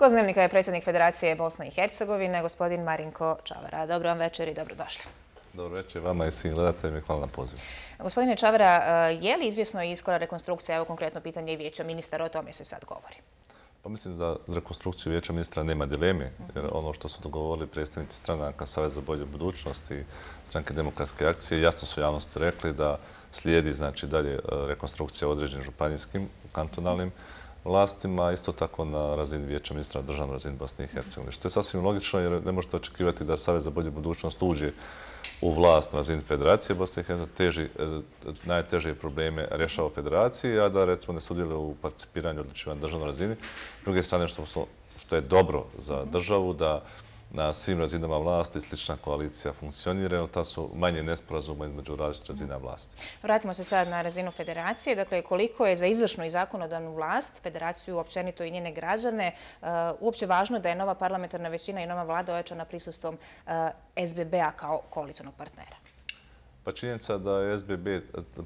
Gost Dnevnika je predsjednik Federacije Bosne i Hercegovine, gospodin Marinko Čavara. Dobro vam večer i dobrodošli. Dobro večer vama i svim gledateljima i hvala na pozivu. Gospodine Čavara, je li izvjesno i skora rekonstrukcija, evo konkretno pitanje i vijeća ministara, o tome se sad govori? Pa mislim da za rekonstrukciju vijeća ministra nema dileme, jer ono što su dogovorili predstavnici stranaka Savez za bolju budućnost i Stranke demokratske akcije jasno su javnosti rekli da slijedi znači dalje rekonstrukcija određenim županijskim kantonalnim vlastima, isto tako na razini vijeća ministra na državnoj razini Bosne i Hercegovine. Što je sasvim logično jer ne možete očekivati da Savez za bolju budućnost uđe u vlast na razini Federacije Bosne i Hercegovine, najteže probleme rješava Federaciji, a da recimo ne sudjeluje u participiranju odlučivanja na državnoj razini. S druge strane, što je dobro za državu, da na svim razinama vlasti slična koalicija funkcionira, jer ta su manje nesporazuma između različitih razina vlasti. Vratimo se sad na razinu Federacije. Dakle, koliko je za izvršnu i zakonodavnu vlast, Federaciju općenito i njene građane, uopće važno da je nova parlamentarna većina i nova vlada ojačana prisustvom SBB-a kao koalicionog partnera? Pa činjenica da je SBB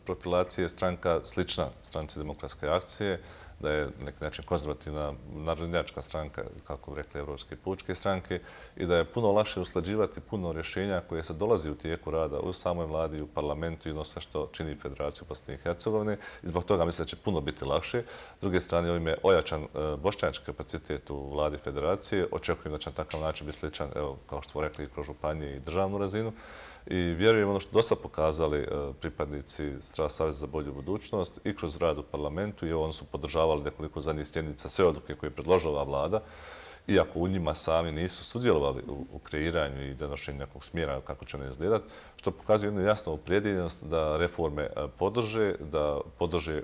profilacije stranka slična Stranci demokratske akcije, da je na neki način konzervativna narodnjačka stranka, kako bi rekli evropske pučke stranke, i da je puno lakše usklađivati puno rješenja koje se dolazi u tijeku rada u samoj vladi, u parlamentu i ono sve što čini Federaciju Bosne i Hercegovine. I zbog toga mislim da će puno biti lakše. S druge strane, ovim je ojačan bošnjački kapacitet u vladi Federacije. Očekujem da će na takav način biti sličan, evo, kao što smo rekli, i kroz županije i državnu razinu. I vjerujem ono što dosta pokazali pripadnici Saveza za bolju budućnost i kroz rad u parlamentu i oni su podržavali nekoliko zadnjih sjednica sve odluke koje je predložila ova vlada, iako u njima sami nisu sudjelovali u kreiranju i donošenju nekog smjera kako će one izgledati, što pokazuje jednu jasnu opredjeljenost da reforme podrže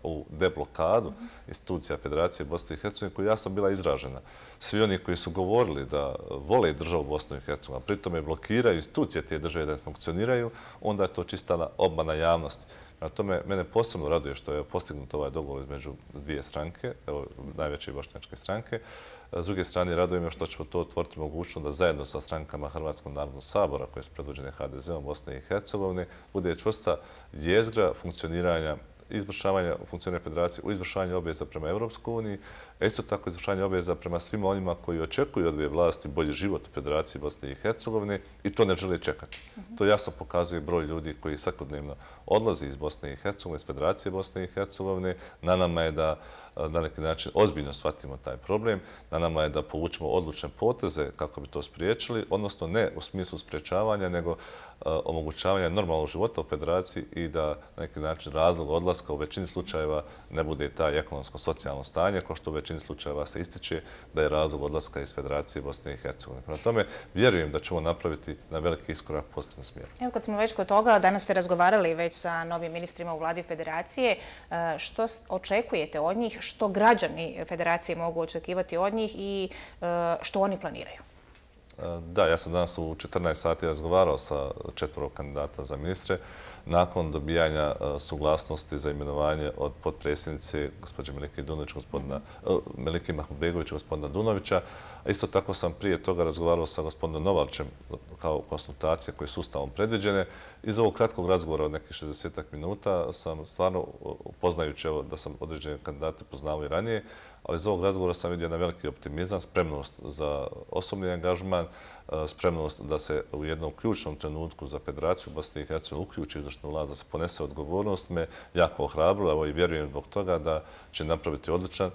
ovu deblokadu institucija Federacije Bosne i Hercegovine koja je jasno bila izražena. Svi oni koji su govorili da vole državu Bosnu i Hercegovinu, a pritome blokiraju institucije te države da ne funkcioniraju, onda je to čista obmana javnosti. Na tome mene posebno raduje što je postignut ovaj dogovor između dvije stranke, najveće bošnjačke stranke. S druge strane, raduje me što ćemo to otvoriti mogućnost da zajedno sa strankama Hrvatskog narodnog sabora, koje su predvođene HDZ-om Bosne i Hercegovine, bude čvrsta jezgra funkcioniranja izvršavanja funkcioniranja Federacije u izvršavanju obveza prema Europskoj uniji, a isto tako izvršavanje obveza prema svima onima koji očekuju od ove vlasti bolji život u Federaciji Bosne i Hercegovine i to ne žele čekati. To jasno pokazuje broj ljudi koji svakodnevno odlazi iz Bosne i Hercegovine, iz Federacije Bosne i Hercegovine. Na nama je da na neki način ozbiljno shvatimo taj problem. Na nama je da povučemo odlučne poteze kako bi to spriječili, odnosno ne u smislu spriječavanja, nego omogućavanja normalnog života u Federaciji i da na neki način razlog odlaska u većini slučajeva ne bude taj ekonomsko-socijalno stanje, kao što u većini slučajeva se ističe da je razlog odlaska iz Federacije Bosne i Hercegovine. Prema tome, vjerujem da ćemo napraviti na veliki iskorak u pozitivnom smjeru. Evo, kad smo već kod toga, danas ste razgovarali već sa novim ministrima u vladi Federacije. Što očekujete od njih? Što građani Federacije mogu očekivati od njih i što oni planiraju? Da, ja sam danas u 14 sati razgovarao sa 4 kandidata za ministre. Nakon dobijanja suglasnosti za imenovanje od potpredsjednice gospođe Melike Mahmudbegovića, gospodina Dunovića. Isto tako sam prije toga razgovarao sa gospodinom Novalčem kao konsultacije koje su ustavom predviđene. Iz ovog kratkog razgovora od nekih 60 minuta sam stvarno, upoznajući da sam određene kandidate poznao i ranije, ali iz ovog razgovora sam vidio jedan veliki optimizam, spremnost za osobni angažman, spremnost da se u jednom ključnom trenutku za Federaciju Bosne i Hercegovine uključi izvršnu vlast, da se ponese odgovornost, me jako ohrabrilo i vjerujem zbog toga da će napraviti odličan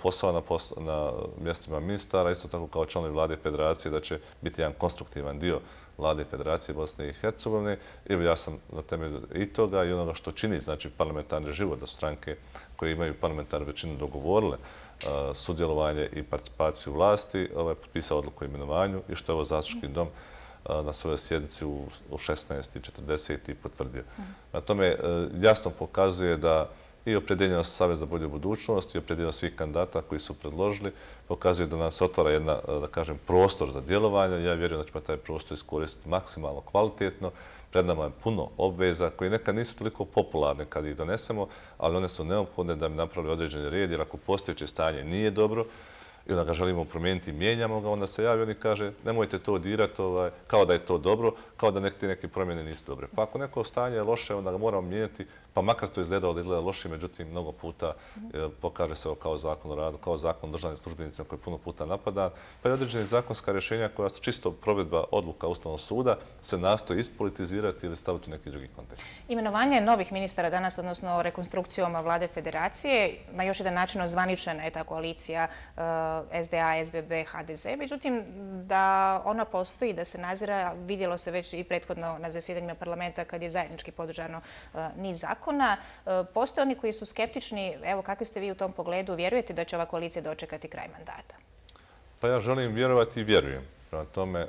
posao na mjestima ministara, isto tako kao članovi vlade Federacije, da će biti jedan konstruktivan dio vlade Federacije Bosne i Hercegovine. Evo, ja sam na temelju i toga i onoga što čini znači parlamentarni život, da su stranke koje imaju parlamentarnu većinu dogovorile sudjelovanje i participaciju vlasti, potpisao odluku o imenovanju i što je ovo zastupnički dom na svojoj sjednici u 16:40 potvrdio. Na tome jasno pokazuje da i opredjeljenost Saveza za bolju budućnost i opredjeljenost svih kandidata koji su predložili pokazuje da nas otvara jedna, da kažem, prostor za djelovanje. Ja vjerujem da ćemo taj prostor iskoristiti maksimalno kvalitetno. Pred nama je puno obveza koje nekad nisu toliko popularne kad ih donesemo, ali one su neophodne da bi napravili određeni red, jer ako postojeće stanje nije dobro i onda ga želimo promijeniti i mijenjamo ga, onda se javi on i kaže nemojte to dirati kao da je to dobro, kao da neke promjene nisu dobre. Pa ako neko stanje je loše, onda ga moramo mijenjati pa makar to izgledalo da izgleda loše, međutim, mnogo puta pokaže se kao zakon o radu, kao zakon o državnim službenicima koji je puno puta napadan, pa i određene zakonska rješenja koja su čisto provedba odluka Ustavnog suda se nastoji ispolitizirati ili staviti u neki drugi kontekst. Imenovanje novih ministara danas, odnosno rekonstrukcijom vlade federacije, na još jedan način ozvaničena je ta koalicija SDA, SBB, HDZ. Međutim, da ona postoji, da se nazira, vidjelo se već i prethodno na zasjedanjima parlamenta kad je zajednički podržano niz zakona. Postoje oni koji su skeptični. Evo, kakvi ste vi u tom pogledu? Vjerujete da će ova koalicija dočekati kraj mandata? Pa ja želim vjerovati i vjerujem. Prema tome,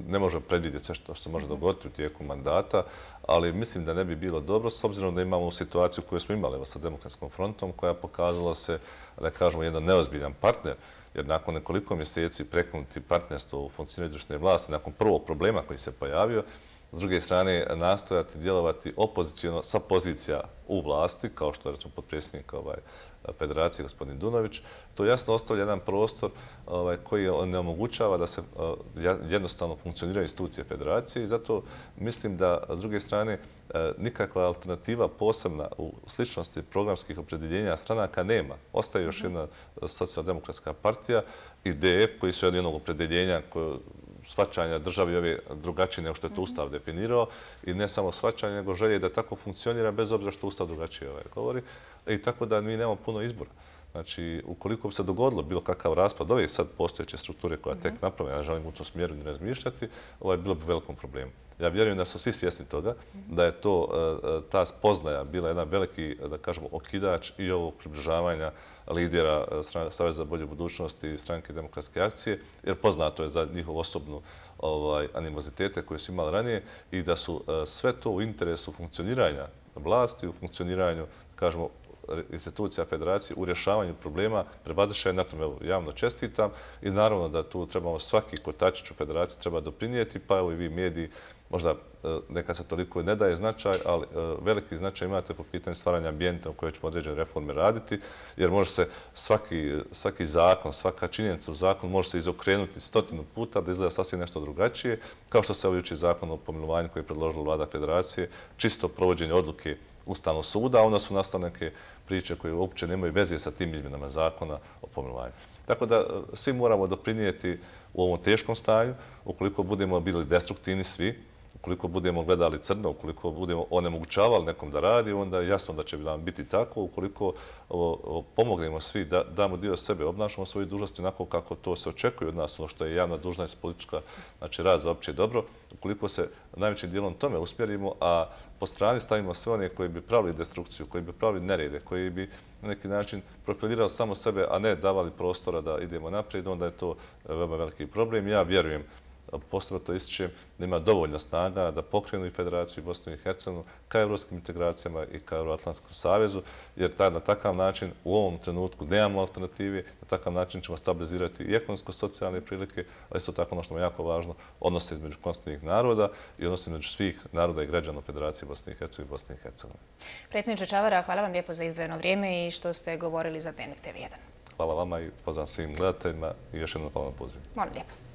ne može predvidjeti sve što se može dogoditi u tijeku mandata, ali mislim da ne bi bilo dobro s obzirom da imamo situaciju koju smo imali sa Demokratskom frontom koja pokazala se, da kažemo, jedan neozbiljan partner, jer nakon nekoliko mjeseci prekinuti partnerstvo u funkcioniranju izvršne vlasti, nakon prvog problema koji se pojavio, s druge strane nastojati djelovati opoziciono sa pozicija u vlasti, kao što je recimo potpredsjednik Federacije gospodin Dunović, to jasno ostavlja jedan prostor koji ne omogućava da se jednostavno funkcioniraju institucije Federacije i zato mislim da s druge strane nikakva alternativa posebna u sličnosti programskih opredjeljenja stranaka nema. Ostaje još jedna socijaldemokratska partija i DF koji su jednog opredjeljenja shvaćanja državi ove drugačije nego što je to Ustav definirao i ne samo shvaćanje, nego želje da tako funkcionira bez obzira što Ustav drugačije govori. I tako da mi nemamo puno izbora. Znači, ukoliko bi se dogodilo bilo kakav raspad ove sad postojeće strukture koja tek napravlja, ja želim u tom smjeru ne razmišljati, bilo bi velikom problemu. Ja vjerujem da su svi svjesni toga, da je ta spoznaja bila jedan veliki, da kažemo, okidač i ovog približavanja lidera Saveza za bolju budućnost i stranke Demokratske akcije, jer poznato je za njihov osobnu animozitete koje su imali ranije i da su sve to u interesu funkcioniranja vlasti, u funkcioniranju, kažemo, institucija Federacije u rješavanju problema prevazišli na tome. Javno čestitam i naravno da tu trebamo svaki kotačić u Federaciji treba doprinijeti, pa evo i vi mediji, možda nekad se toliko ne daje značaj, ali veliki značaj imate po pitanju stvaranja ambijenta u kojoj ćemo određene reforme raditi, jer može se svaki zakon, svaka činjenica u zakonu može se izokrenuti 100 puta da izgleda sasvim nešto drugačije, kao što se ovdje zakon o pomilovanju koji je predložila vlada Federacije, čisto provođenje odluke Ustavnog suda, a onda su nastale neke priče koje uopće nemaju veze sa tim izmjenama zakona o pomilovanju. Tako da svi moramo doprinijeti u ovom teškom stanju, ukoliko budemo bili destruktivni svi, ukoliko budemo gledali crno, ukoliko budemo onemogućavali nekom da radi, onda je jasno da će nam biti tako. Ukoliko pomognemo svi, da damo dio sebe, obnašamo svoju dužnost onako kako to se očekuje od nas, ono što je javna dužnost politička, znači rad za opće dobro, ukoliko se najvećim dijelom tome usmjerimo, a po strani stavimo sve one koji bi pravili destrukciju, koji bi pravili nerede, koji bi na neki način profilirali samo sebe, a ne davali prostora da idemo naprijed, onda je to veoma veliki problem. Ja vjerujem, posebno to ističem, da ima dovoljno snaga da pokrenu i Federaciju i Bosnu i Hercegovinu ka evropskim integracijama i ka Euroatlantskom savezu, jer na takav način u ovom trenutku nemamo alternativi, na takav način ćemo stabilizirati i ekonomsko-socijalne prilike, ali isto tako ono što je jako važno, odnose između konstitutivnih naroda i odnose između svih naroda i građana Federacije Bosne i Hercegovine i Bosne i Hercegovine. Predsjedniče Čavara, hvala vam lijepo za izdvojeno vrijeme i što ste govorili za Dnevnik TV1. Hvala vama i pozdrav svim gledateljima i još jednom hvala na pozivu. Molim lijepo.